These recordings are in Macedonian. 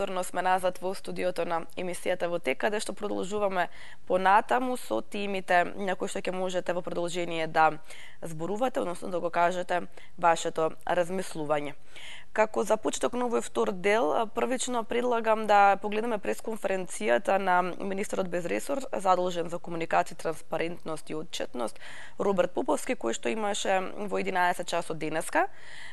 Повторно сме назад во студиото на емисијата во ТЕК, каде што продолжуваме понатаму со тимите на кои што ќе можете во продолжение да зборувате, односно да го кажете вашето размислување. Како за почеток на овој втор дел, првично предлагам да погледнеме пресконференцијата на министерот без ресор, задолжен за комуникација, транспарентност и отчетност, Роберт Поповски, кој што имаше во 11 часот денеска.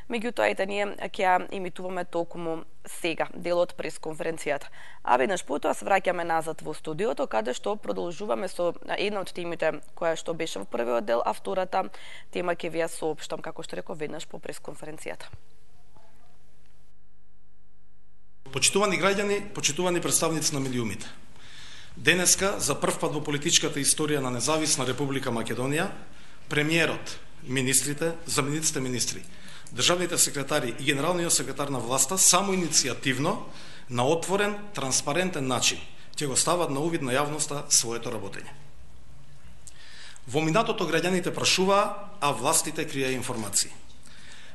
Меѓутоа, ете, ние ќе ја имитуваме токму сега, дел од пресконференцијата. А веднаш потоа се враќаме назад во студиото, каде што продолжуваме со една од темите која што беше во првиот дел, а втората тема ќе ви ја соопштам, како што реков, веднаш по пресконференцијата. Почитувани граѓани, почитувани представници на медиумите. Денеска, за прв пат во политичката историја на независна Република Македонија, премиерот, министрите, замениците министри, државните секретари и генералниот секретар на власта само иницијативно, на отворен, транспарентен начин ќе го стават на увид на јавноста своето работење. Во минатото граѓаните прашуваа, а властите криеа информации.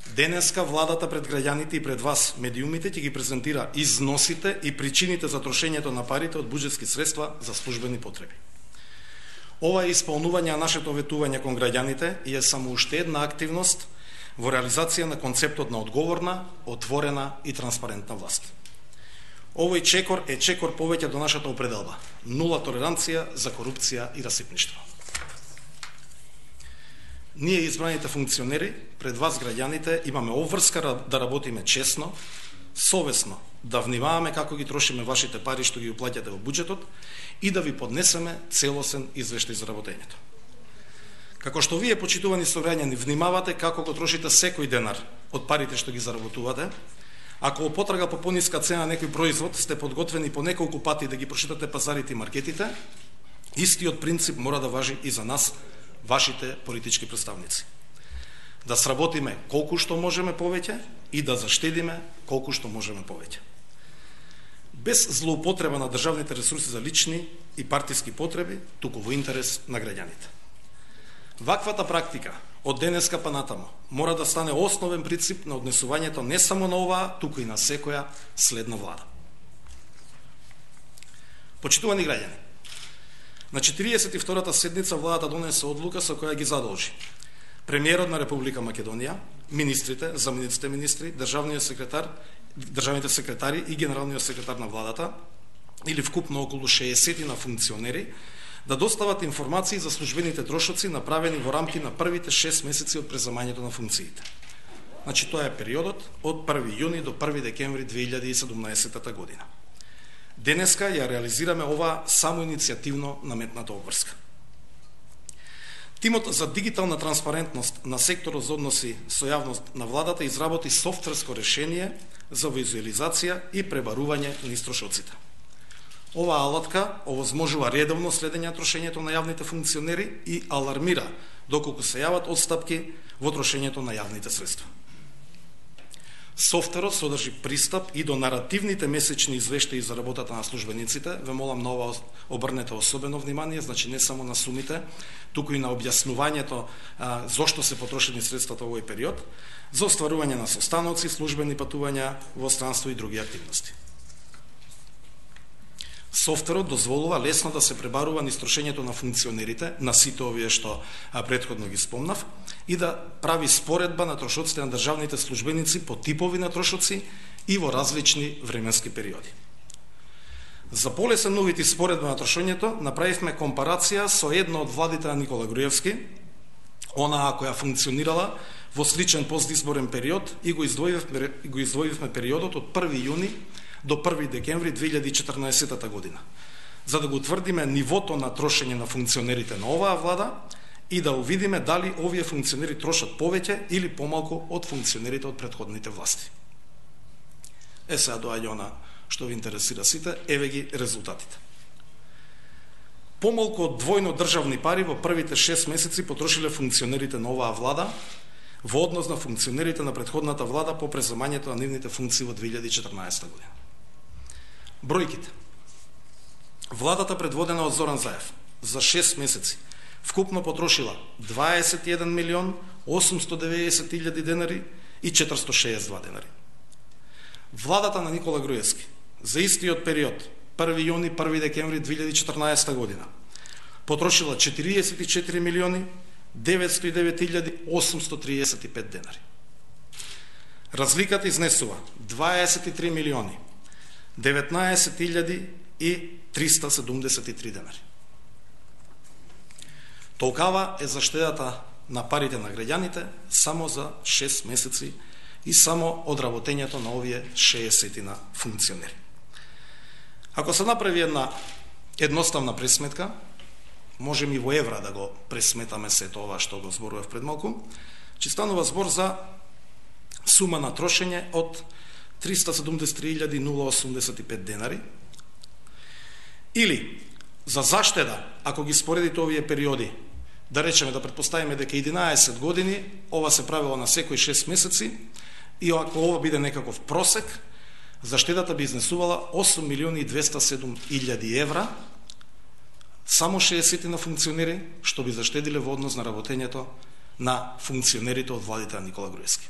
Денеска владата пред граѓаните и пред вас, медиумите, ќе ги презентира износите и причините за трошењето на парите од буџетски средства за службени потреби. Ова е исполнување на нашето ветување кон граѓаните и е само уште една активност во реализација на концептот на одговорна, отворена и транспарентна власт. Овој чекор е чекор повеќе до нашата определба: нула толеранција за корупција и расипништво. Ние, избраните функционери, пред вас, граѓаните, имаме обврска да работиме честно, совесно, да внимаваме како ги трошиме вашите пари што ги уплаќате во буџетот и да ви поднесеме целосен извештај за работењето. Како што вие, почитувани сограѓани, внимавате како го трошите секој денар од парите што ги заработувате, ако во потрага по пониска цена некој производ сте подготвени по неколку пати да ги прошитате пазарите и маркетите, истиот принцип мора да важи и за нас, вашите политички представници. Да сработиме колку што можеме повеќе и да заштедиме колку што можеме повеќе. Без злоупотреба на државните ресурси за лични и партиски потреби, туку во интерес на граѓаните. Ваквата практика од денеска па натаму мора да стане основен принцип на однесувањето не само на оваа, туку и на секоја следна влада. Почитувани граѓани, на 42-та седница владата донесе одлука со која ги задолжи премиерот на Република Македонија, министрите, замениците министри, државните секретари и генералниот секретар на владата, или вкупно околу 60 на функционери, да достават информации за службените трошоци направени во рамки на првите 6 месеци од преземањето на функциите. Значи, тоа е периодот од 1 јуни до 1 декември 2017 година. Денеска ја реализираме ова само иницијативно наметната обврска. Тимот за дигитална транспарентност на секторот за односи со јавност на владата изработи софтверско решение за визуализација и пребарување на истрошоците. Оваа алатка овозможува редовно следење на трошењето на јавните функционери и алармира доколку се јават отстапки во трошењето на јавните средства. Софтверот содржи пристап и до наративните месечни извештаи за работата на службениците. Ве молам на ова обрнете особено внимание, значи не само на сумите, туку и на објаснувањето зошто се потрошени средствата во овој период, за остварување на состаноци, службени патувања во странство и други активности. Софтверот дозволува лесно да се пребарува низ трошењето на функционерите, на сите овие што претходно ги спомнав, и да прави споредба на трошоците на државните службеници по типови на трошоци и во различни временски периоди. За полесен увид и споредба на трошењето, направивме компарација со една од владите на Никола Груевски, онаа која функционирала во сличен постизборен период, и го издвоивме периодот од 1 јуни до 1 декември 2014 година, за да го утврдиме нивото на трошење на функционерите на оваа влада и да увидиме дали овие функционери трошат повеќе или помалку од функционерите од претходните власти. Сега доаѓа она што ви интересира сите, еве ги резултатите. Помалку од двојно државни пари во првите 6 месеци потрошиле функционерите на оваа влада во однос на функционерите на претходната влада по преземањето на нивните функции во 2014 година. Бројките. Владата предводена од Зоран Заев за 6 месеци вкупно потрошила 21 милион 890 илјади денари и 462 денари. Владата на Никола Груевски за истиот период 1 јуни 1 декември 2014 година потрошила 44 милиони 909.835 денари. Разликата изнесува 23 милиони 19.373 денари. Толкава е заштедата на парите на граѓаните само за 6 месеци и само одработењето на овие 60 на функционери. Ако се направи една едноставна пресметка, можем и во евра да го пресметаме сето ова што го зборував пред малку, че станува збор за сума на трошење од 373.085 денари, или за заштеда, ако ги споредите овие периоди, да речеме, да претпоставиме дека 11 години, ова се правило на секој 6 месеци, и ако ова биде некаков просек, заштедата би изнесувала 8.207.000 евра, само 60 на функционери, што би заштедиле во однос на работењето на функционерите од владите на Никола Груевски.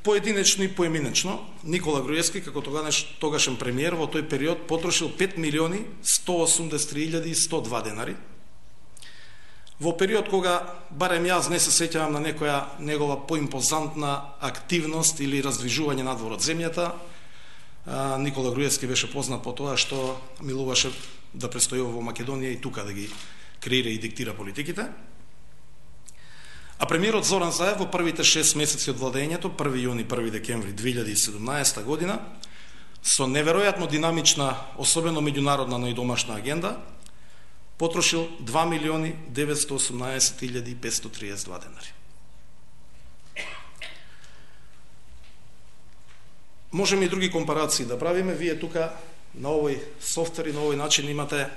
Поединечно и поеминечно, Никола Груевски, како тогашен премиер, во тој период потрошил 5.183.102 денари. Во период кога, барем јас не се сеќавам на некоја негова поимпозантна активност или раздвижување надвор од земјата, Никола Груевски беше познат по тоа што милуваше да престојува во Македонија и тука да ги креира и диктира политиките. А премиерот Зоран Заев во првите 6 месеци од владењето, 1 јуни 1 декември 2017 година, со неверојатно динамична, особено меѓународна, но и домашна агенда, потрошил 2.918.532 денари. Можеме и други компарации да правиме. Вие тука на овој софтвер и на овој начин имате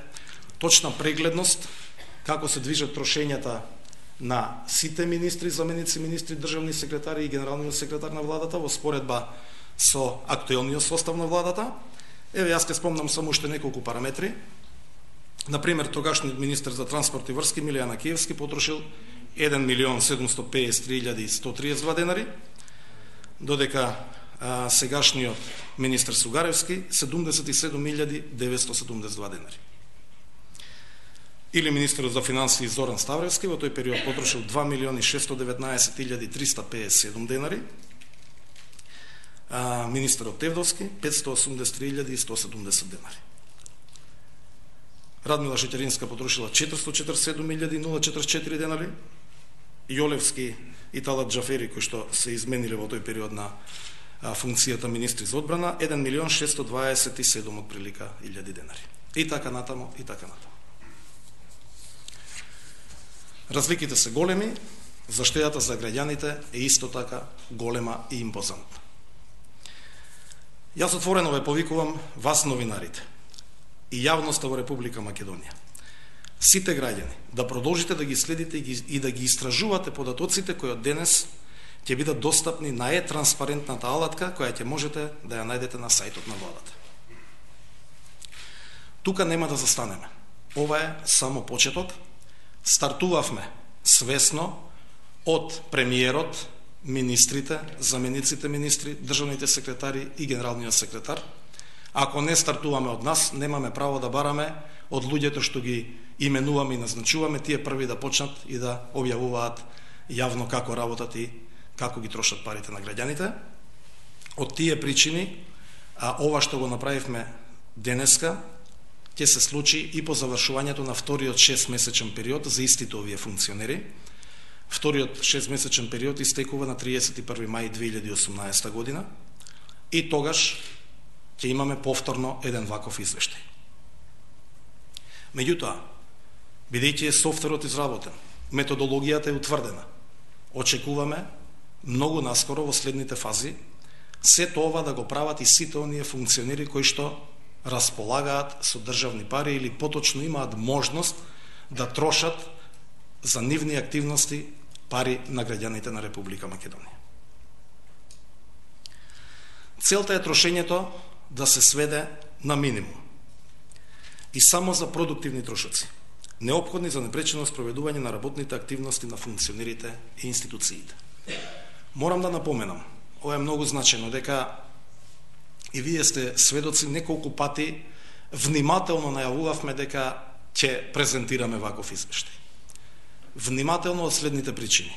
точна прегледност како се движат трошењата на сите министри, заменици министри, државни секретари и генералниот секретар на владата во споредба со актуелниот состав на владата. Еве, јас ќе спомнам само уште неколку параметри. Например, тогашниот министер за транспорт и врски Милијан Акиевски потрошил 1.153.132 денари, додека сегашниот министер Сугаревски 77.972 денари. Или министерот за финансии Зоран Ставревски во тој период потрошил 2.619.357 денари, министерот Тевдовски 583.170 денари. Радмила Шеќеринска потрошила 447.044 денари, Јолевски и Талат Џафери, кои што се измениле во тој период на функцијата министри за одбрана, 1.627 отприлика илјади денари. И така натаму, и така натаму. Разликите се големи, заштедата за граѓаните е исто така голема и импозантна. Јас отворено ве повикувам вас, новинарите, и јавноста во Република Македонија, сите граѓани, да продолжите да ги следите и да ги истражувате податоците кои од денес ќе бидат достапни на транспарентната алатка која ќе можете да ја најдете на сајтот на владата. Тука нема да застанеме. Ова е само почеток. Стартувавме свесно од премиерот, министрите, замениците министри, државните секретари и генералниот секретар. Ако не стартуваме од нас, немаме право да бараме од луѓето што ги именуваме и назначуваме, тие први да почнат и да објавуваат јавно како работат и како ги трошат парите на граѓаните. Од тие причини, ова што го направивме денеска, ќе се случи и по завршувањето на вториот 6-месечен период за истите овие функционери. Вториот 6-месечен период истекува на 31 мај 2018 година и тогаш ќе имаме повторно еден ваков извештај. Меѓутоа, бидејќи е софтверот изработен, методологијата е утврдена, очекуваме многу наскоро во следните фази сето ова да го прават и сите оние функционери кои што располагаат со државни пари или поточно имаат можност да трошат за нивни активности пари на граѓаните на Република Македонија. Целта е трошењето да се сведе на минимум и само за продуктивни трошоци, неопходни за непречено спроведување на работните активности на функционерите и институциите. Морам да напоменам, ова е многу значено, дека и вие сте сведоци, неколку пати внимателно најавувавме дека ќе презентираме ваков извештај. Внимателно од следните причини.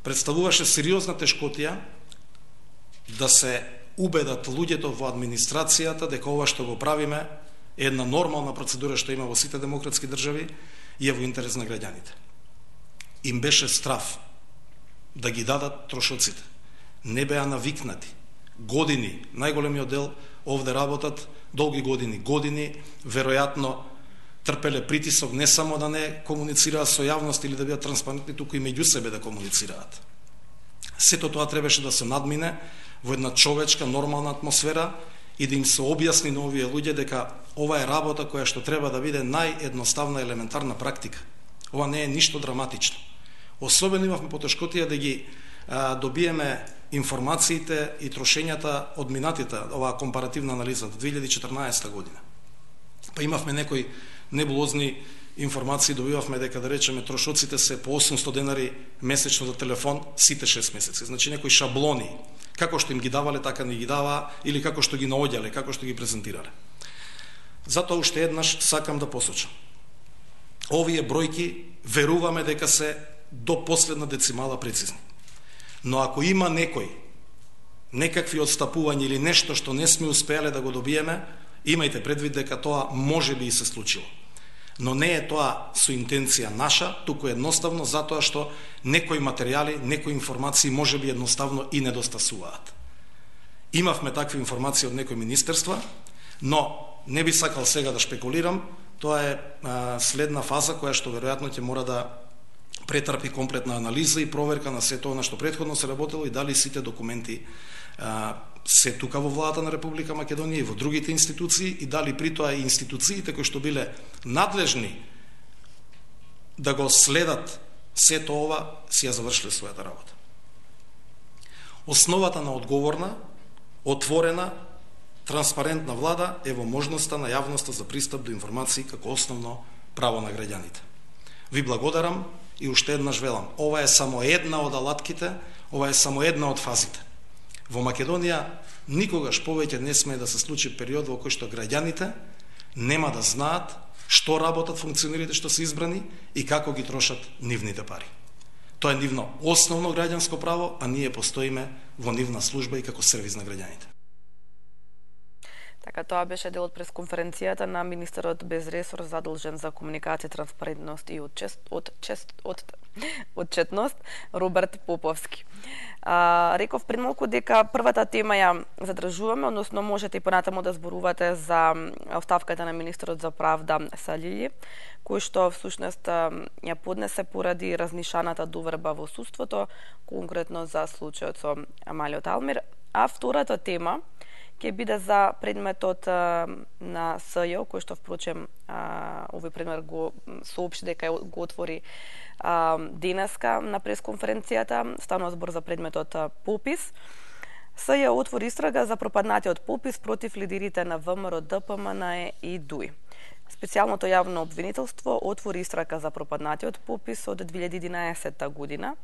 Представуваше сериозна тешкотија да се убедат луѓето во администрацијата дека ова што го правиме е една нормална процедура што има во сите демократски држави и е во интерес на граѓаните. Им беше страв да ги дадат трошоците. Не беа навикнати. Години, најголемиот дел овде работат долги години, веројатно трпеле притисок не само да не комуницираат со јавност или да бидат транспарентни, туку и меѓу себе да комуницираат. Сето тоа требаше да се надмине во една човечка, нормална атмосфера и да им се објасни на овие луѓе дека ова е работа која што треба да биде наједноставна елементарна практика. Ова не е ништо драматично. Особено имавме потешкотија да ги добиеме информациите и трошењата од минатите, оваа компаративна анализа од 2014 година. Па имавме некои небулозни информации, добивавме дека, да речеме, трошоците се по 800 денари месечно за телефон сите 6 месеци. Значи некои шаблони, како што им ги давале, така не ги даваа, или како што ги наоѓале, како што ги презентирале. Затоа уште еднаш сакам да посочам. Овие бројки веруваме дека се до последна децимала прецизни. Но ако има некакви отстапувања или нешто што не сме успеале да го добиеме, имајте предвид дека тоа може би и се случило. Но не е тоа со интенција наша, туку едноставно затоа што некои материјали, некои информации може би едноставно и недостасуваат. Имавме такви информации од некои министерства, но не би сакал сега да шпекулирам, тоа е следна фаза која што веројатно ќе мора да претрпи комплетна анализа и проверка на сето она што претходно се работело и дали сите документи се тука во владата на Република Македонија и во другите институции и дали при тоа и институциите кои што биле надлежни да го следат сето ова си ја завршиле својата работа. Основата на одговорна, отворена, транспарентна влада е во можноста на јавноста за пристап до информации како основно право на граѓаните. Ви благодарам и уште еднаш велам, ова е само една од алатките, ова е само една од фазите. Во Македонија никогаш повеќе не смее да се случи период во кој што граѓаните нема да знаат што работат функционерите што се избрани и како ги трошат нивните пари. Тоа е нивно основно граѓанско право, а ние постоиме во нивна служба и како сервис на граѓаните. Така, тоа беше дел од пресконференцијата на министерот без ресор задолжен за комуникација, транспарентност и отчетност Роберт Поповски. Реков пред малку дека првата тема ја задржуваме, односно можете и понатаму да зборувате за оставката на министерот за правда Салили, кој што всушност ја поднесе поради разнишаната доверба во судството, конкретно за случајот со Амалио Талмир. А втората тема ќе биде за предметот на СЈ, кој што впрочем овој предмет го соопшти дека го отвори денеска на пресконференцијата. Станува збор за предметот попис. СЈ отвори истрага за пропаднатиот попис против лидерите на ВМРО, ДПМН и ДУИ. Специјалното јавно обвинителство отвори истрага за пропаднатиот попис од 2011 година.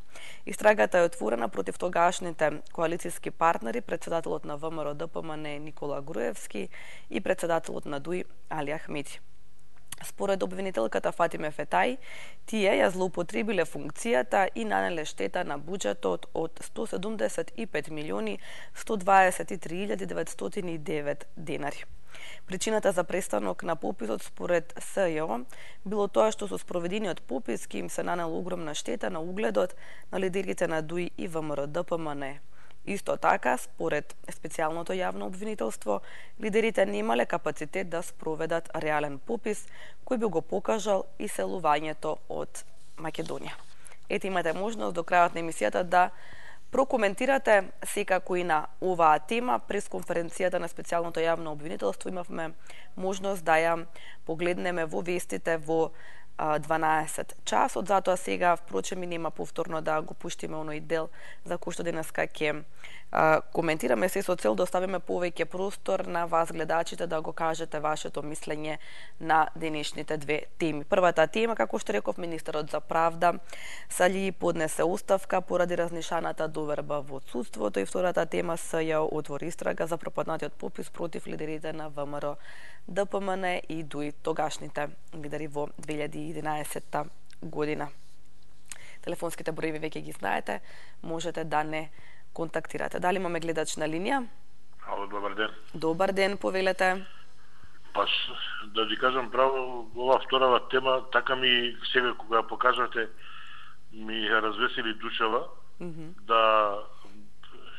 Истрагата е отворена против тогашните коалицијски партнери, председателот на ВМРО ДПМН Никола Груевски и председателот на ДУИ Али Ахмети. Според обвинителката Фатиме Фетај, тие ја злоупотребиле функцијата и нанеле штета на буџетот од 175.123.909 денари. Причината за престанок на пописот според СЈ било тоа што со спроведениот попис ки им се нанела огромна штета на угледот на лидерите на ДУИ и ВМРО ДПМН. Исто така, според специјалното јавно обвинителство, лидерите немале капацитет да спроведат реален попис кој би го покажал иселувањето од Македонија. Ете, имате можност до крајот на емисијата да прокоментирате секако и на оваа тема. През конференцијата на специјалното јавно обвинителство имавме можност да ја погледнеме во вестите, во 12 часот, затоа сега впрочем и нема повторно да го пуштиме оној дел за кој што денеска ќе коментираме, се со цел да оставиме повеќе простор на вас гледачите да го кажете вашето мислење на денешните две теми. Првата тема, како што реков, министерот за правда Сали поднесе оставка поради разнишаната доверба во судството, и втората тема СЈО отвори истрага за пропаднатиот попис против лидерите на ВМРО, ДПМН и ДУИ, тогашните лидери во 2011 година. Телефонските броеви веќе ги знаете, можете да не контактирате. Дали имаме гледач на линија? Ало, добар ден. Добар ден, повелете. Паш, да ви кажам право, ова вторава тема, така ми сега кога покажате, ми развесели душава, да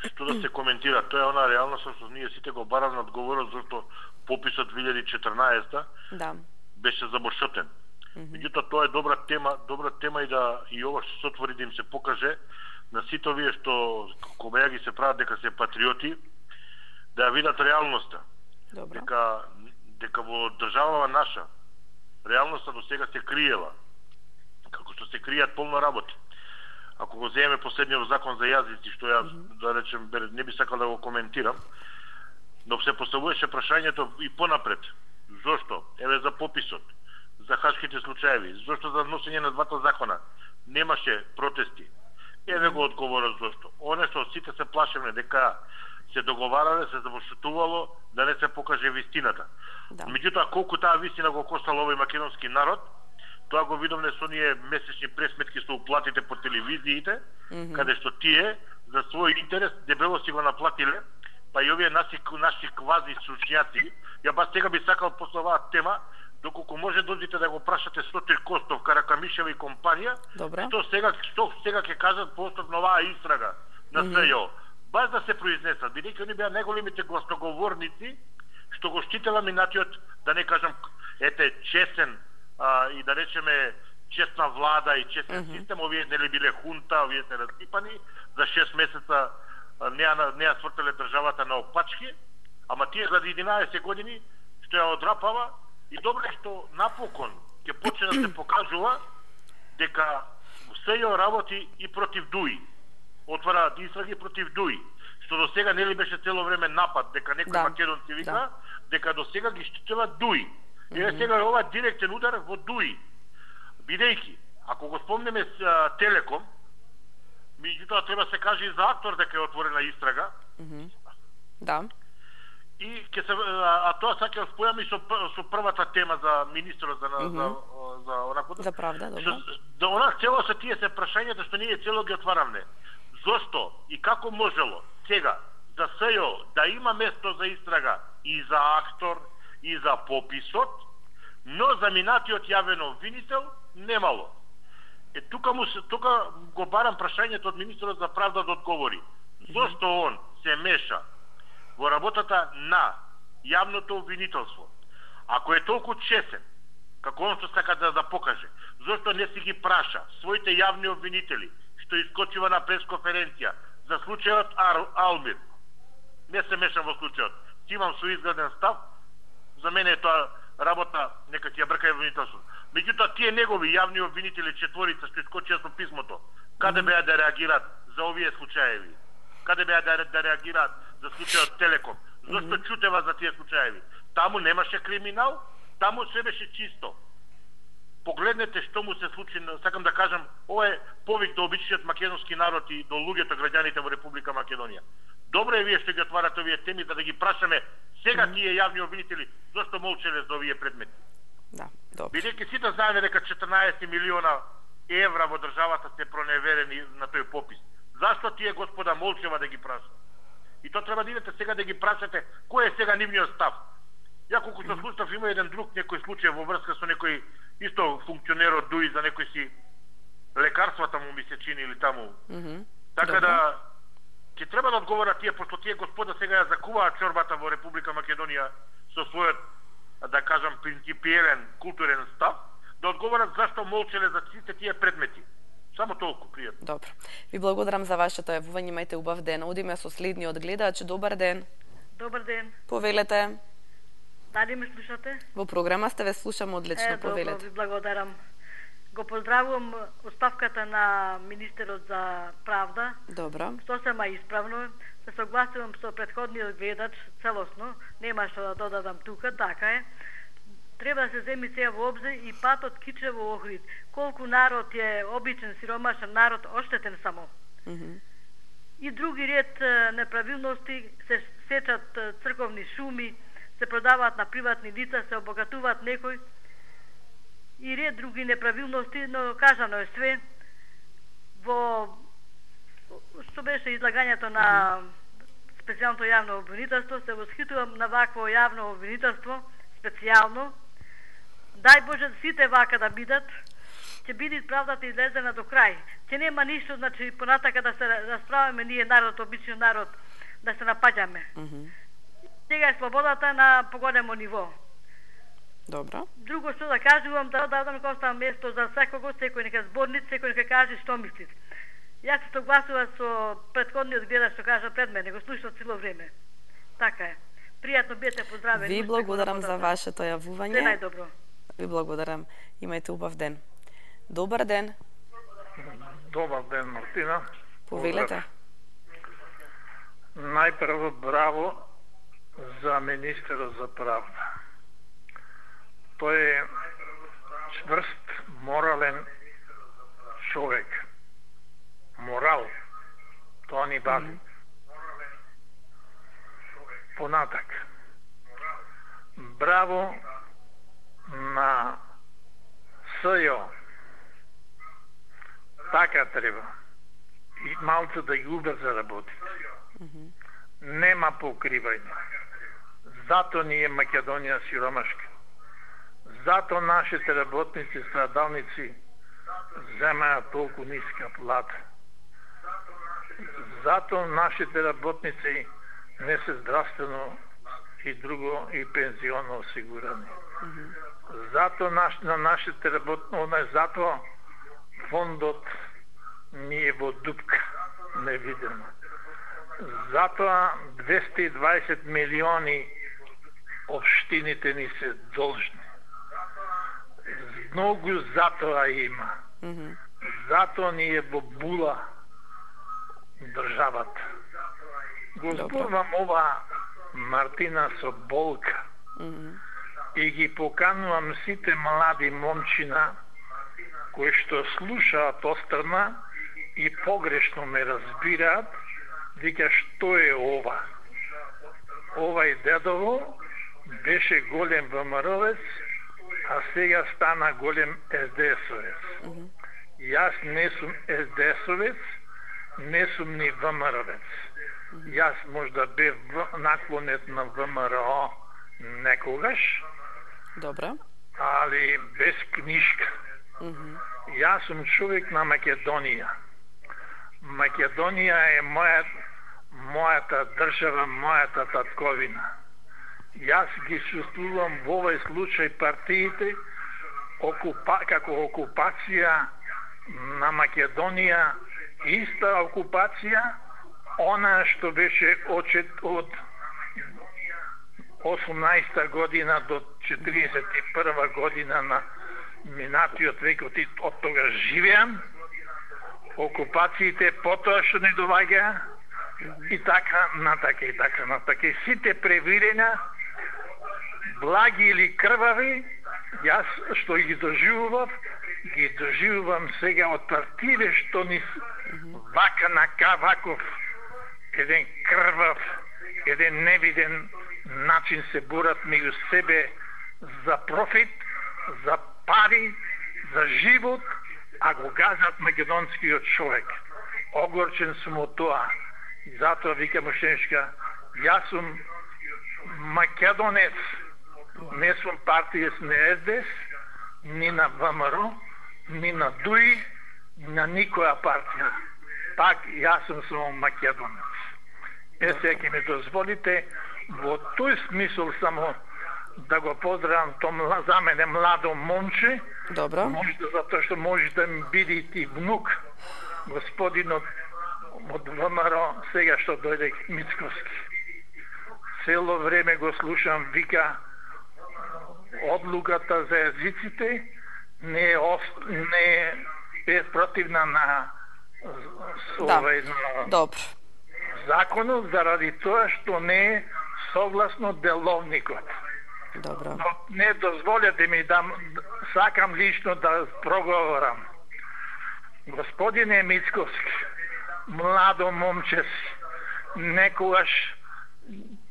што да се коментира. Тоа е она реалност што ние сите го бараме одговорот, зашто пописот 2014 беше забошотен. Меѓутоа тоа е добра тема и ова што се отвори да им се покаже на сите овие што кога ги се прават дека се патриоти, да ја видат реалноста. Дека во државава наша реалноста до сега се криела, како што се кријат полно работи. Ако го земеме последниот закон за јазици, што ја, да речем, не би сакал да го коментирам, но се поставуваше прашањето и понапред. Зошто? Еве за пописот, за хашките случаеви, зошто за носење на двата закона немаше протести? Еве го одговорот зошто. Оне што сите се плашевме дека се договарале, се завошутувало да не се покаже вистината. Меѓутоа, колку таа вистина го коштала овој македонски народ, тоа го видовме со ние месечни пресметки со уплатите по телевизиите, каде што тие за свој интерес дебело си го наплатиле, па и овие наши квази сучњаци. Ја бас сега би сакал после оваа тема, доколку може дозите да го прашате Сотир Костов, Каракамишева и компанија, што сега ќе кажат по основ на оваа истрага на СЈО. Баш да се произнесат, бидејќи они беа најголемите гласноговорници што го штитела минатиот, да не кажам, честен и да речеме честна влада и честен систем. Овие нели биле хунта, овие се разпипани, за 6 месеца не ја свртеле државата на опачки, ама тие за 11 години што ја одрапава, и добро е што напокон ќе почне да се покажува дека СЈО работи и против ДУИ. Отвара истраги против ДУИ, што до сега нели беше цело време напад дека некој македонци вика, дека до сега ги штитела ДУИ. Еве сега е ова директен удар во ДУИ. Бидејќи, ако го спомнеме Телеком, меѓутоа треба се каже и за Актор дека е отворена истрага. И ќе се тоа сака спојаме со првата тема за министерот за онако за правда, добро. Да она цело се тие се прашањата што ние цело ги отварамне. Зошто и како можело сега за СЈО да има место за истрага и за Актор и за пописот, но за минатиот јавен обвинител немало. Тука го барам прашањето од министерот за правда да одговори. Зошто он се меша во работата на јавното обвинителство? Ако е толку чесен, како он што сака да покаже, зошто не си ги праша своите јавни обвинители, што искочува на пресконференција за случајот Алмир? Не се мешам во случајот. Ти имам соизграден став, за мене е тоа работа, нека ти ја брка обвинителство. Меѓутоа, тие негови јавни обвинители, четворица што искочија со писмото, каде беа да реагираат за овие случаеви? Каде беа да реагираат за случајот Телеком? Зошто чутева за тие случаеви? Таму немаше криминал, таму се беше чисто. Погледнете што му се случи, сакам да кажам, ова е повик до обичниот македонски народ и до луѓето, граѓаните во Република Македонија. Добро е вие што ги отварате овие теми, за да ги прашаме сега тие јавни обвинители зошто молчеле за овие предмети. Бидејќи сите знаеме дека 14 милиона евра во државата се проневерени на тој попис. Зашто тие господа молчева да ги праша? И тоа треба да идете сега да ги прашате кој е сега нивниот став. Ја колку што слушав, има еден друг некој случај во врска со некој исто функционер од ДУИ за некој си лекарствата му ми се чини или таму. Така да ќе треба да одговорат тие, пошто тие господа сега ја закуваат чорбата во Република Македонија со својот, да кажам, принципиелен културен став, да одговорат зашто молчеле за сите тие предмети. Само толку, пријатно. Добро. Ви благодарам за вашето јавување, имајте убав ден. Одиме со следниот гледач. Добар ден. Добар ден. Повелете. Дали ме слушате? Во програма сте, ве слушам одлично, повелете. Добро, ви благодарам. Го поздравувам оставката на министерот за правда. Добро. Сосема исправно. Се согласувам со претходниот гледач целосно. Нема што да додадам тука, така е. Треба да се земи сега во обзир и патот Кичево-Охрид. Колку народ е обичен, сиромашен народ, оштетен само. И други ред неправилности, се сечат црковни шуми, се продаваат на приватни лица, се обогатуваат некои и ред други неправилности, но кажано е све. Во што беше излагањето на специјалното јавно обвинителство, се восхитувам на вакво јавно обвинителство, специјално. Дај Боже сите вака да бидат, ќе биде правдата излезена до крај. Ќе нема ништо, значи понатака да се расправаме ние народ, обичен народ, да се напаѓаме. Сега е слободата на поголемо ниво. Добро. Друго што да кажувам, да дадам коста место за секого, секој нека зборница, секој нека каже што мисли. Јас се согласувам со претходниот гледач што кажа пред мене, го слушам цело време. Така е. Пријатно бидете поздравени. Ви благодарам за вашето јавување. Се најдобро. Ви благодарам. Имајте убав ден. Добар ден. Добар ден, Мартина. Повелете. Најпрво браво за министерот за правда. Тој е чврст, морален човек. Морал. Тоа ни бави. Понатак. Браво на СЈО. Така треба. И малце да ги убрза работите. Нема покривање. Зато ни е Македонија сиромашка. Зато нашите работници, страдалници земаат толку ниска плата. Зато нашите работници не се здравствено и друго и пензионно осигурани. Зато на нашите работници, зато фондот ни е во дупка, невидено. Затоа 220 милиони општините ни се должни. Многу затоа има. Затоа ни е во була државата. Го зборувам ова, Мартина, со болка. И ги поканувам сите млади момчина кои што слушаат острна и погрешно ме разбираат, вика што е ова. Овај дедово беше голем ВМРО-вец, а сега стана голем СДС-овец. Јас не сум СДС-овец, не сум ни ВМРО-вец. Јас можда бев наклонет на ВМРО некогаш, Добро. али без книжка. Јас сум човек на Македонија. Македонија е мојата држава, мојата татковина. Јас ги чувствувам во овој случај партиите како окупација на Македонија, иста окупација, она што беше од 18 година до 41 година на минатиот век, од тога живеам, окупациите потоа што не доваѓа и така натака и така натака. И сите превирења, благи или крвави, јас што ги доживувам сега од партиите што ни вака на ваков еден крвав, еден невиден начин се борат меѓу себе за профит, за пари, за живот, а го газат македонскиот човек. Огорчен сум од тоа. И затоа викам ушеншка, јас сум македонец, не сум партијес на СДС, ни на ВМРО, ни на ДУИ, на никоја партија. Пак јас сум само македонец. Сега ќе ми дозволите во тој смисол само да го поздравам тоа за мене младо момче. Добро. Затоа што може да ми биде и ти внук, господинот од ВМРО, сега што дојде Мицковски. Цело време го слушам, вика одлуката за езиците, не е спротивна на Добро. законот заради тоа што не е согласно деловникот. Добро. Но не дозволете ми да сакам лично да проговорам. Господине Мицковски, младо момче, некогаш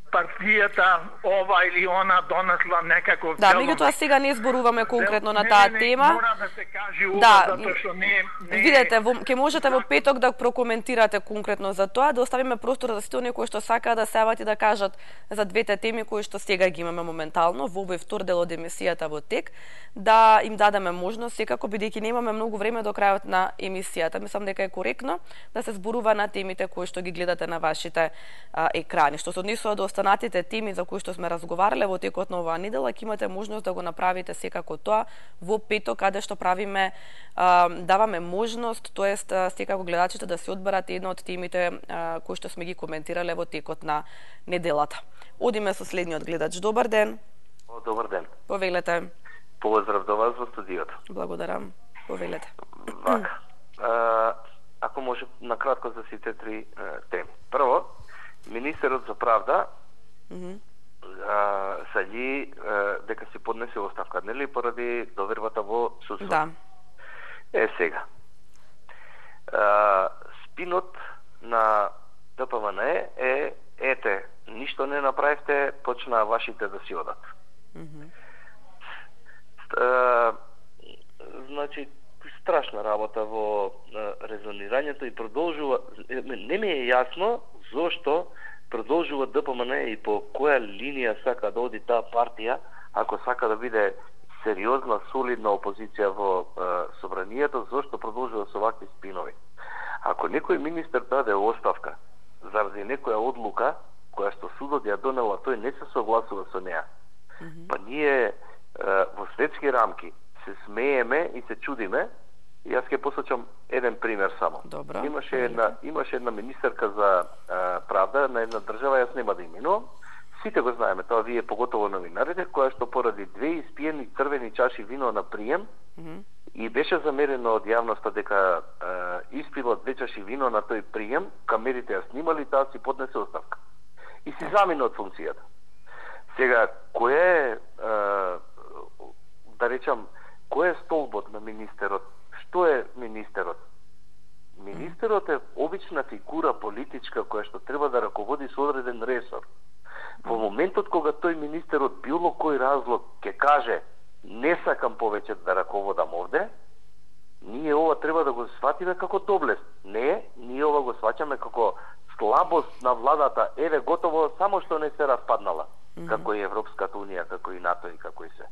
партијата ова или она донесла некаков Да, меѓутоа сега не зборуваме конкретно на таа тема. Мора да се каже ова, затоа што не видете, ќе можете во петок да прокоментирате конкретно за тоа, да оставиме простор за сите оние кои што сакаат да се јават и да кажат за двете теми кои што сега ги имаме моментално во овој втор дел од емисијата во тек, да им дадеме можност секако, бидејќи немаме многу време до крајот на емисијата. Мислам дека е коректно да се зборува на темите кои што ги гледате на вашите екрани. Што се однесува до останатите теми за кои што сме разговарале во текот на оваа недела, ќе имате можност да го направите секако тоа во петок, каде што правиме, даваме можност, тоест секако гледачите да се одберат една од темите кои што сме ги коментирале во текот на неделата. Одиме со следниот гледач. Добар ден. Добар ден. Повелете. Поздрав до вас во студиото. Благодарам. Повелете. Вака. Ако може накратко за сите три теми. Прво, министерот за правда саѓи дека си поднесе оставка, нели, поради довербата во судството. Да. Сега. Спинот на ДПМН е ете, ништо не направивте, почнаа вашите да си одат. Значи, страшна работа во резонирањето и продолжува, не ми е јасно зошто продолжува ДПМН и по која линија сака да оди таа партија, ако сака да биде сериозна, солидна опозиција во собранието, зошто продолжува со вакви спинови. Ако некој министер даде оставка заради некоја одлука која што судот ја донела, тој не се согласува со неа. Па ние во светски рамки се смееме и се чудиме. И јас ќе посочам еден пример само. Добро. Имаше една министерка за правда на една држава, јас нема да именувам. Сите го знаеме тоа, вие поготово новинарите, која што поради 2 испиени црвени чаши вино на прием и беше замерено од јавноста дека испила 2 чаши вино на тој прием, камерите ја снимали, таа си поднесе оставка. И си замина од функцијата. Сега, кој е, да речам, кој е столбот на министерот? Што е министерот? Министерот е обична фигура политичка која што треба да раководи со одреден ресор. Во моментот кога тој министер од било кој разлог ќе каже не сакам повеќе да раководам овде, ние ова треба да го сватиме како доблест. Не, ние ова го сваќаме како слабост на владата. Еве готово, само што не се распаднала. Како и Европската унија, како и НАТО и како и се.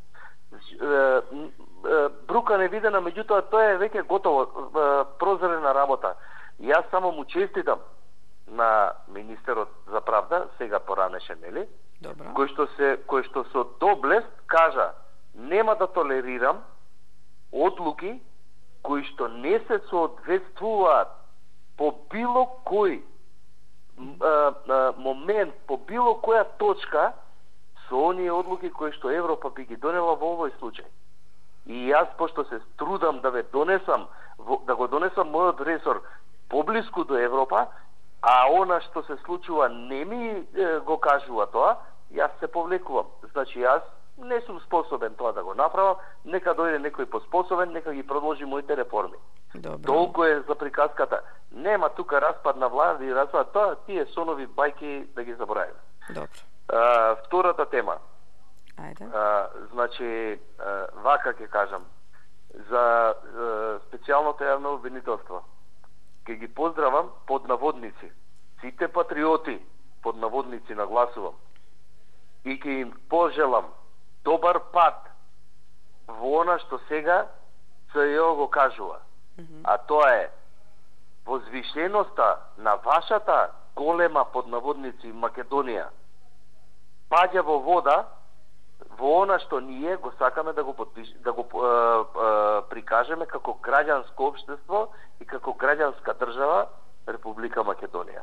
Брука невидена, меѓутоа тоа е веќе готово, прозрена работа. Јас само му честитам на министерот за правда, сега поранеше, нели? Добро. Кој што со доблест кажа нема да толерирам одлуки кои што не се соодветствуваат по било кој момент, по било која точка со оние одлуки кои што Европа би ги донела во овој случај. И јас, пошто се трудам да да го донесам мојот ресор поблиску до Европа, а она што се случува не ми го кажува тоа, јас се повлекувам. Значи јас не сум способен тоа да го направам, нека дојде некој поспособен, нека ги продолжи моите реформи. Добро. Толку е за приказката. Нема тука распад на влада и распад, тоа тие сонови бајки да ги заборавиме. Добро. Втората тема. Ајде. Значи, вака ќе кажам, за специјалното јавно обвинителство. Ке ги поздравам под наводници. Сите патриоти под наводници нагласувам. И ке им пожелам добар пат во она што сега ЦЈО го кажува. А тоа е возвишеноста на вашата голема под наводници Македонија паѓа во вода во она што ние го сакаме да го прикажеме како граѓанско општество и како граѓанска држава Република Македонија.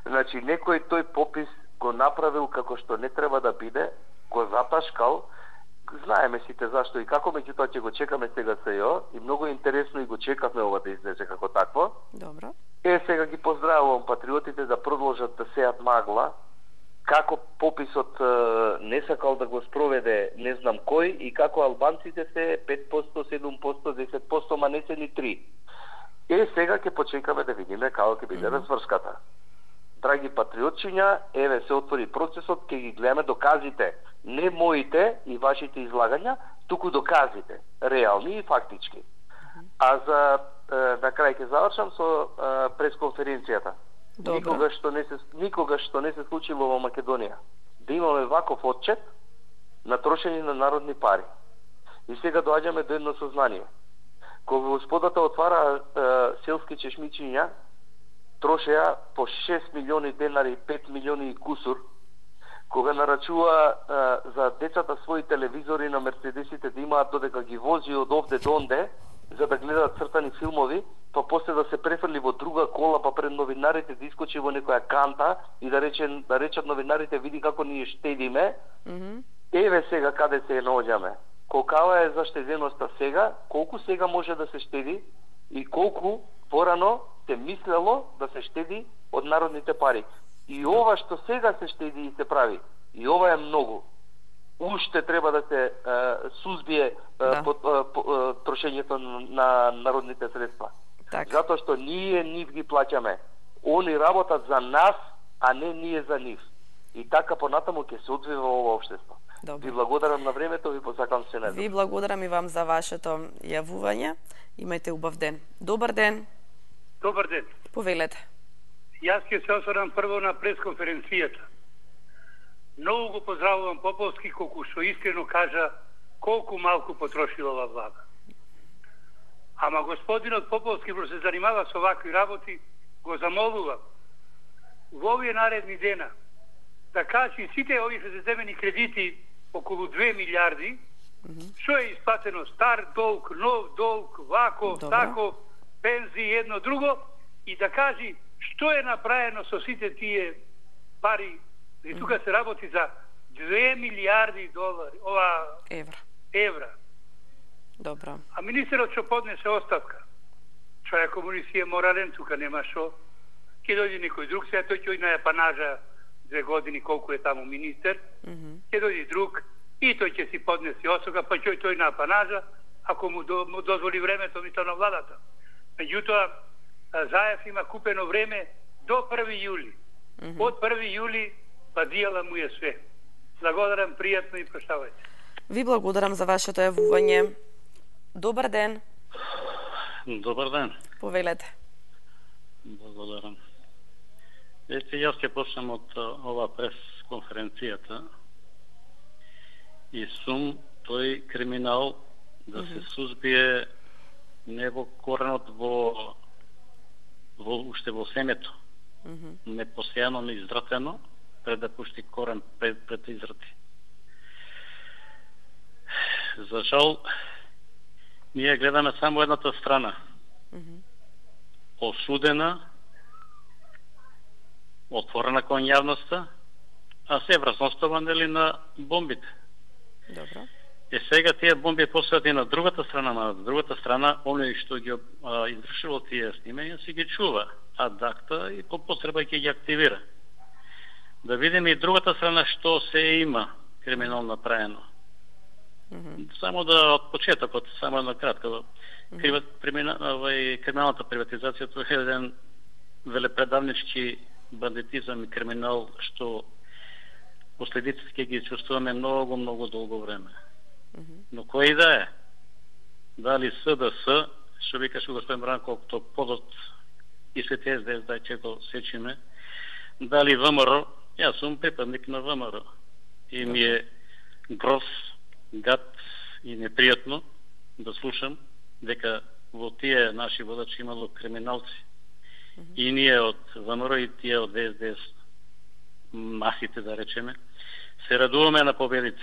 Значи, некој тој попис го направил како што не треба да биде, го заташкал знаеме сите зашто и како, меѓутоа ќе го чекаме сега СЈО и многу интересно и го чекавме ова да излезе како такво. Добро. Сега ги поздравувам патриотите да продолжат да сеат магла, како пописот не сакал да го спроведе не знам кој и како албанците се 5%, 7%, 10%, ма не се ни 3%. Сега ќе почекаме да видиме како ќе биде разврската. Драги патриотчиња, еве се отвори процесот, ќе ги гледаме доказите, не моите и вашите излагања, туку доказите, реални и фактички. А за на крај ќе завршам со пресконференцијата. Никогаш што не се случило во Македонија да имаме ваков отчет на трошење на народни пари. И сега доаѓаме до едно сознание. Кога господата отвара селски чешмичиња, трошеа по 6 милиони денари, 5 милиони и кусур, кога нарачува за децата своји телевизори на мерцедесите да имаат додека ги вози од овде до онде, за да гледат цртани филмови, па после да се префрли во друга кола, па пред новинарите да искочи во некоја канта и да речат новинарите, види како ние штедиме. Еве сега каде се наоѓаме. Колкава е заштеденоста сега, колку сега може да се штеди и колку порано се мислело да се штеди од народните пари. И ова што сега се штеди и се прави, и ова е многу. Уште треба да се сузбие трошењето на народните средства. Так. Затоа што ние нив ги плаќаме. Они работат за нас, а не ние за нив. И така понатаму ќе се одвива ова општество. Добре. Ви благодарам на времето, ви посакам се недел. Ви благодарам и вам за вашето јавување. Имајте убав ден. Добар ден. Добар ден. Повелете. Јас ќе се осврнам прво на пресконференцијата. Многу го поздравувам Поповски, колку што искрено кажа колку малку потрошила ова влада. Ама господинот Поповски, бро се занимава со вакви работи, го замолувам во овие наредни дена да кажи сите овие што се земени кредити околу 2 милиарди, што е исплатено стар долг, нов долг, вако, тако, пензии, едно друго, и да кажи што е направено со сите тие пари. И тука се работи за 2 милиарди долари, евра. Добро. А министерот што поднесе оставка, човек комунист е морален, тука нема што. Ќе дојде некој друг, сега тој ќе на апанажа 2 години колку е таму министер, ќе дојде друг и тој ќе си поднесе оставка, па ќе тој на апанажа, ако му дозволи времето мисто на владата. Меѓутоа, Заев има купено време до 1. јули. Од 1. јули падијала му е све. Благодарам, пријатно и прощавајте. Ви благодарам за вашето јавување. Добар ден. Добар ден. Повелете. Благодарам. Јас ќе почнем од ова пресконференцијата и сум тој криминал да се сузбие не во коренот, уште во семето. Не посејано, не изратено, пред да пушти корен пред да израти. За жал, ние гледаме само едната страна. Осудена, отворена кон јавноста, а се вразностава нели на бомбите. Добро. Сега тие бомби посеат и на другата страна, на другата страна, оној што ги извршило тие снимања си ги чува ад акта и по потреба ќе ги активира. Да видиме и другата страна што се има криминално направено. Само да од почетокот, само на кратко. Криминалната приватизација тоа е еден велепредавнички бандитизам и криминал што последиците ќе ги чувствуваме многу долго време. Но кој да е? Дали СДС, што викаше господин Бранко, тоа подот и сите СДС, да ќе го сечиме, дали ВМРО, јас сум припадник на ВМРО и ми е гроз, гад и непријатно да слушам дека во тие наши водачи имало криминалци. И ние од ВМРО и тие од СДС, масите да речеме, се радуваме на победите.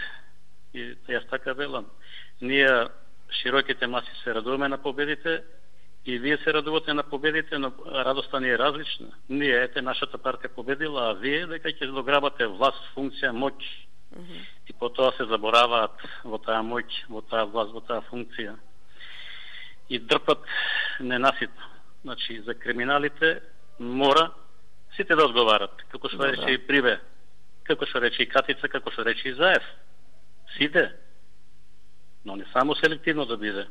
И јас така велам. Ние, широките маси, се радуваме на победите и вие се радувате на победите, но радоста ни е различна. Ние, нашата партија победила, а вие дека ќе дограбате власт, функција, моќ И потоа се забораваат во таа моќ, во таа власт, во таа функција. И дрпат ненаситно. Значи, за криминалите мора сите да одговарат. Како што рече и Прибе, како што рече и Катица, како што рече и Заев. Сите. Но не само селективно да биде.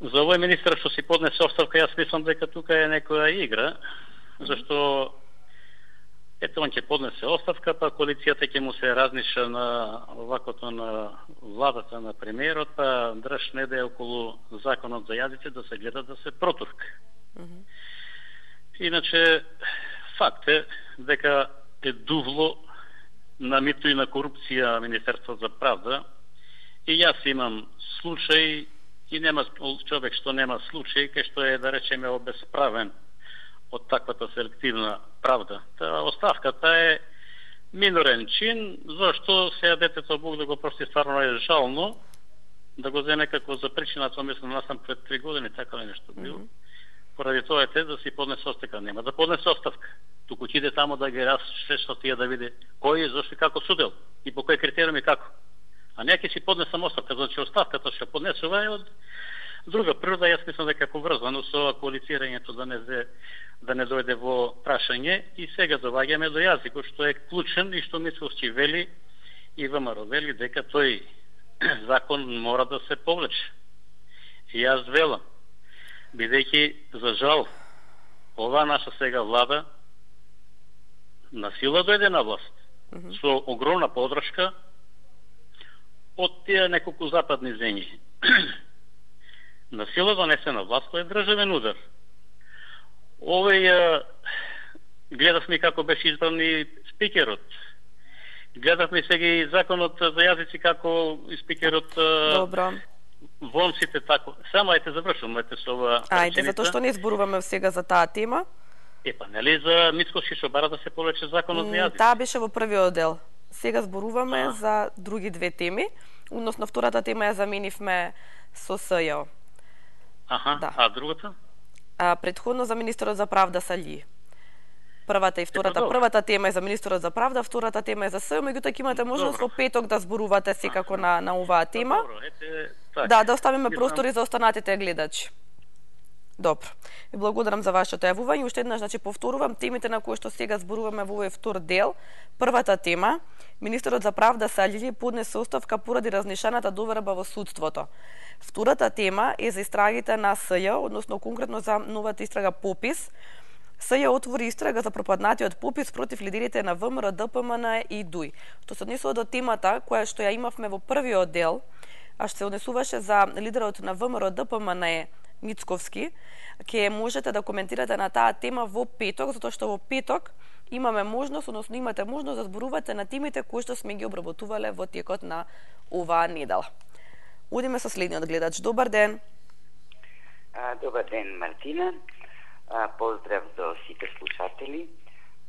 За овој министр што си поднесе оставка, јас мислам дека тука е некоја игра, зашто ето он ќе поднесе оставка, па коалицијата ќе му се разниша на оваквото на владата на премиерот, па држ неде околу законот за јазици да се гледа да се протурка. Иначе, факт е дека е дувло на мито и на корупција Министерството за правда, и јас имам случај, и нема човек што нема случај, кај што е, да речеме, обесправен од таквата селективна правда. Таа оставката е минорен чин, зашто сега детето Бог да го прости, стварно е жално да го земе како за причината, мислам, насам пред 3 години, така ли нешто било. Поради тоа е да си поднесе оставка. Нема да поднесе оставка. Туку ќе иде тамо да ги разчешта тие да види кој е, зашто и како судел и по кој критериум и како. А не ќе си поднесам оставка, значи оставката што поднесува е од друга природа. Јас мислам дека е поврзано со коалицирањето да не дојде во прашање, и сега доваѓаме до јазикот што е клучен и што Мицковски вели и ВМРО вели дека тој закон мора да се повлече. И јас велам, бидејќи за жал ова наша сега влада на сила дојде на власт со огромна подршка од тие неколку западни земји. На сила донесе на власт, тој е државен удар. Овој гледавме како беше избран и спикерот. Гледавме сега и законот за јазици како и спикерот. Добро. Вон сите тако. Само ајте завршуваме со ова. Ајде, затоа што не зборуваме сега за таа тема. Епа, нели за Мицковски што бара да се повлече законот за јазици? Таа беше во првиот дел. Сега зборуваме за други две теми, односно втората тема ја заменивме со СЈО. Да. А другата? Претходно за министерот за правда Сали. Првата и втората. Првата тема е за министерот за правда, втората тема е за СЈО, меѓутоа ќе имате можност во петок да зборувате секако на оваа тема. Да, да оставиме простори за останатите гледачи. Добро. Ви благодарам за вашето јавување. Уште еднаш, значи, повторувам темите на кои што сега зборуваме во овој втор дел. Првата тема, министерот за правда Сали поднесе оставка поради разнишената доверба во судството. Втората тема е за истрагите на СЈО, односно конкретно за новата истрага Попис. СЈО отвори истрага за пропаднатиот попис против лидерите на ВМРО, ДПМН и ДУИ. Што се однесува до темата која што ја имавме во првиот дел, а што се однесуваше за лидерот на ВМРО, ДПМН Мицковски, ќе можете да коментирате на таа тема во петок, затоа што во петок имаме можност, односно имате можност да зборувате на темите кои што сме ги обработувале во текот на оваа недела. Одиме со следниот гледач. Добар ден. Добар ден, Мартина. Поздрав до сите слушатели.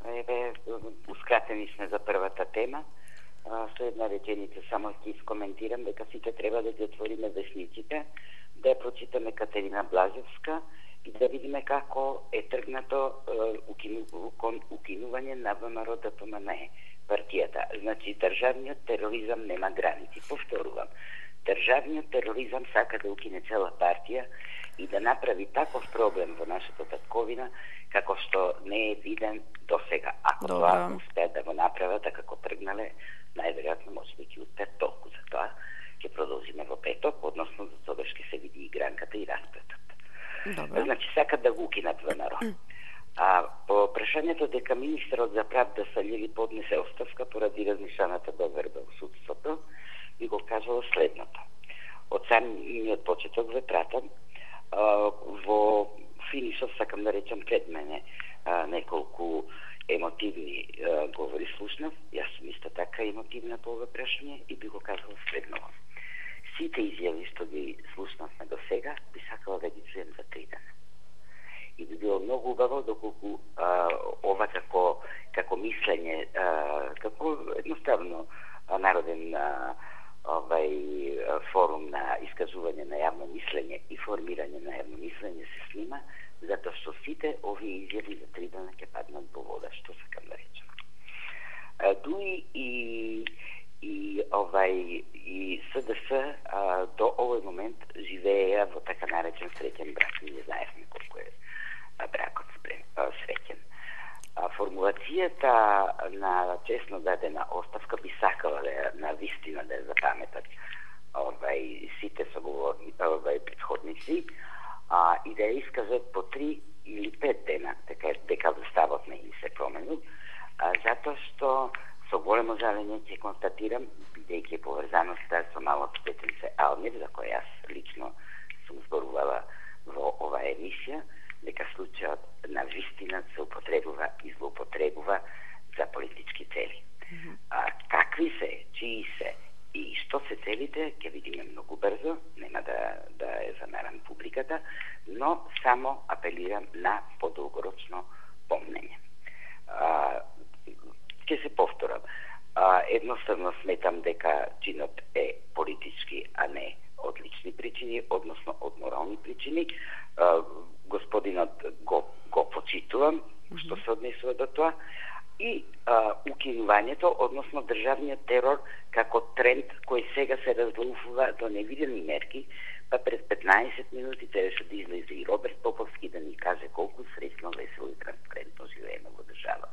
Еве, ускратени сме за првата тема. Со една реченица само ќе искоментирам дека сите треба да ги отвориме весниците, да ја прочитаме Катерина Блажевска и да видиме како е тргнато укинување на ВМРО ДПМН партијата. Значи, државниот тероризам нема граници. Повторувам, државниот тероризам сака да укине цела партија и да направи таков проблем во нашата татковина како што не е виден досега. Ако тоа успеат да го направат, како тргнале, најверојатно може да ќе успеат толку. За тоа ќе продолжиме во петок, односно за тоа ќе се види игранката и расплетот. Значи, сакат да го укинат ВМРО. По прашањето дека министерот за правда Сали поднесе оставка поради разнишаната доверба во судството, би го кажала следното. Од самиот почеток ве пратам, во финишот сакам да речам пред мене неколку емотивни говори слушнав. Јас сум исто така емотивна по ова прашање и би го кажала следното. Сите изјави што ги слушнавме до сега, би сакала да ги чуем за 3 дена. И би било многу убаво доколку ова како мислење, како едноставно народен форум на искажување на јавно мислење и формирање на јавно мислење се снима, затоа што сите овие изјави за 3 дена ќе паднат во вода, што сакам да речем. ДУИ и така наречен среќен брак. Ние знаевме колку е бракот среќен. Формулацијата на честно дадена оставка би сакала на вистина да ја запаметат сите соговорни претходници и да ја искажат по 3 или 5 дена, така дека уставот не им се променил, затоа што со големо жалење ќе констатирам, бидејќи поврзаноста со малото детенце Алмир, за кој јас лично сум зборувала во оваа емисија, дека случајот на вистина се употребува и злоупотребува за политички цели. Какви се, чии се и што се целите, ќе видиме многу брзо, нема да е замерам публиката, но само апелирам на подолгорочно помнење. Ќе се повторам. Едноставно сметам дека чинот е политички, а не од лични причини, односно од морални причини. Господинот го почитувам, што се однесува до тоа, и укинувањето, односно државниот терор како тренд кој сега се разлуфува до невидени мерки, па пред 15 минути требаше да излезе и Роберт Поповски да ни каже колку среќно, весело и транспарентно живееме во држава.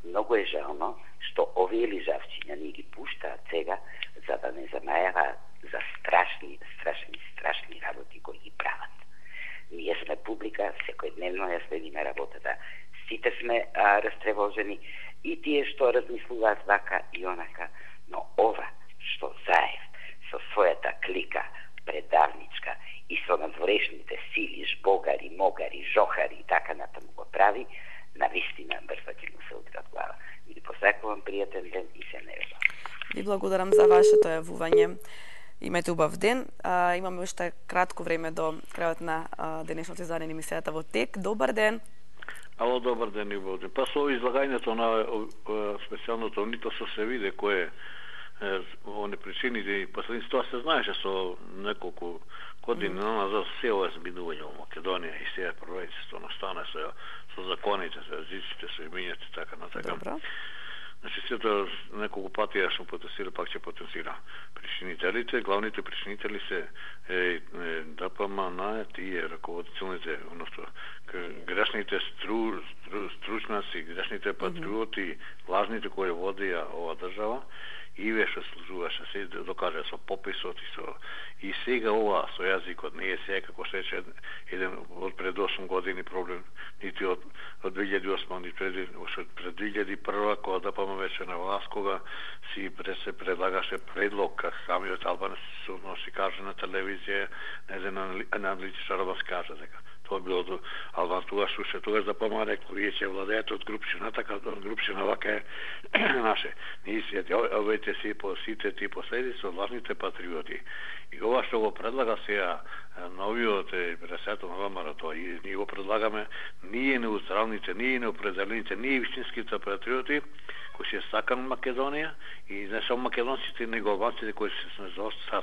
Многу е жално што овие лижавчиња ни ги пуштаат сега за да не замајава за страшни работи кои ги прават. Ние сме публика, секојдневно ја следиме работата. Сите сме растревожени и тие што размислуваат вака и онака, но ова што Заев со својата клика предавничка и со надворешните сили, жбогари, могари, жохари и така натаму го прави, навистина брзо ќе му се удрат глава. Ви посакувам пријатен ден и се неверувам. Ви благодарам за вашето јавување. Имајте убав ден. Имаме уште кратко време до крајот на денешното издание на емисијата Во тек. Добар ден. Ало, добар ден и убав ден. Па со излагањето на специјалното нито се виде кој е они причините, последници тоа се знаеше со неколку години назад се ова збидување во Македонија и сега правителството настане со законите, со езиците, со имињата и така натака. Добро. Значи, сето неколку пати ја сум потенцира, пак ќе потенцира. Причинителите, главните причинители се ДПМН, тие раководителните, односно грешните стручнаци, грешните патриоти, лажните кои водија ова држава, и веше служуваше, се докаже со пописот и сега ова со јазикот не е сега како се рече еден од пред 8 години проблем, нити од 2008, нити пред 2001, кога ДПМ веќе на власт, кога се предлагаше предлог, как самиот Албанец се каже на телевизија, еден аналитичар да се каже дека тоа било до Албан тогаш ДПМ рекол, вие ќе владеете од Групшина, така од Групшина вака е наше. Ние си овете си по сите ти последици од лажните патриоти. И ова што го предлага сега новиот председател на ВМРО, тоа и ние го предлагаме, ние неутралните, ние неопределените, ние вистинските патриоти кои се сакаат Македонија и не само македонците, него албанците кои се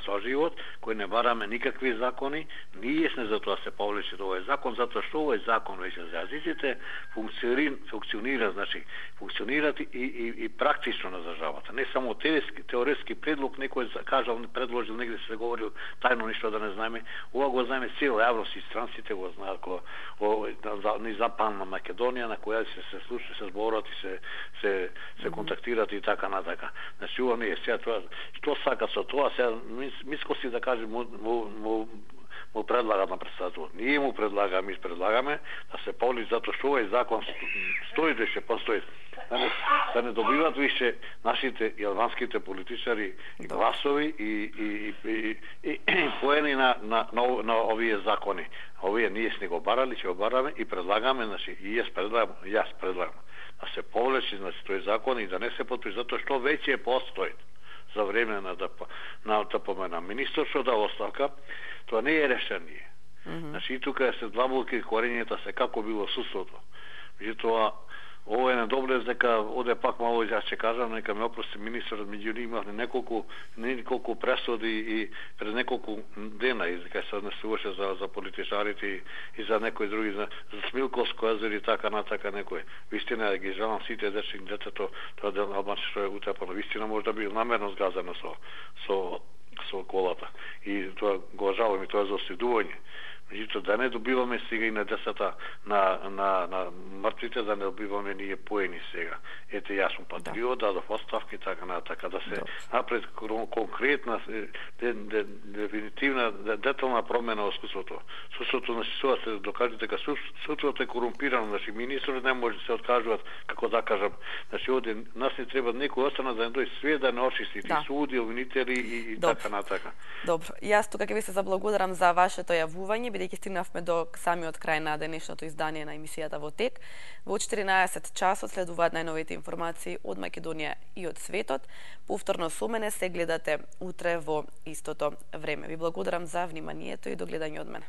со живот, кои не бараме никакви закони, ние сме за тоа се повлече до овој закон, затоа што овој закон веќе за јазиците функционира, значи функционираат и практично на државата. Не само теоретски предлог, некој кажал, предложил, негде се говорил тајно ништо да не знаеме. Ова го знаеме цела јавност и странците го знаат ни Западна Македонија, на која се слуша, се зборат и се контактират и така натака. Значи, ова не е сега тоа. Што сака со тоа? Сега, миско си да кажем, му предлагат на председател. Ние му предлагаме, ми предлагаме да се повлече, затоа што овој закон стои да ќе постои. Да не добиват више нашите и албанските политичари гласови и поени на овие закони. Овие ние сме го барали, ќе го бараме и предлагаме, значи, и јас предлагам да се повлече, значи, тој закон и да не се потпише, затоа што веќе постои за време на ДПМ на министр што да оставка, тоа не е решение. Значи, и тука се длабоки корењата се како било судството. Меѓутоа, ово е недобре, дека оде пак мало, јас ќе кажам, нека ме опрости министерот, меѓу имавме неколку пресуди и пред неколку дена, и дека се однесуваше за политичарите и за некои други, за Смилковско езеро и така натака некој. Вистина да ги жалам сите детето, тоа дел албанци што е утепано, вистина може да би намерно сгазено со со колата. И тоа го жалам и тоа е за оследување. Меѓутоа да не добиваме сега и на децата на мртвите, да не добиваме ние поени сега. Ете, јас сум патриот, дадов оставки, така натака, да се напред конкретна, дефинитивна, детална промена во искуството. Искуството на СИСО се докаже дека искуството е корумпирано, значи министрот не може да се откажуваат, како да кажам, значи овде нас не треба некој остана да не дојде све да не очисти, и суди, обвинители и така натака. Добро, јас тука ќе ви се заблагодарам за вашето јавување, бидејќи стигнавме до самиот крај на денешното издание на емисијата Во тек. Во 14 часот следуваат најновите информации од Македонија и од светот. Повторно со мене се гледате утре во истото време. Ви благодарам за вниманието и до гледање од мене.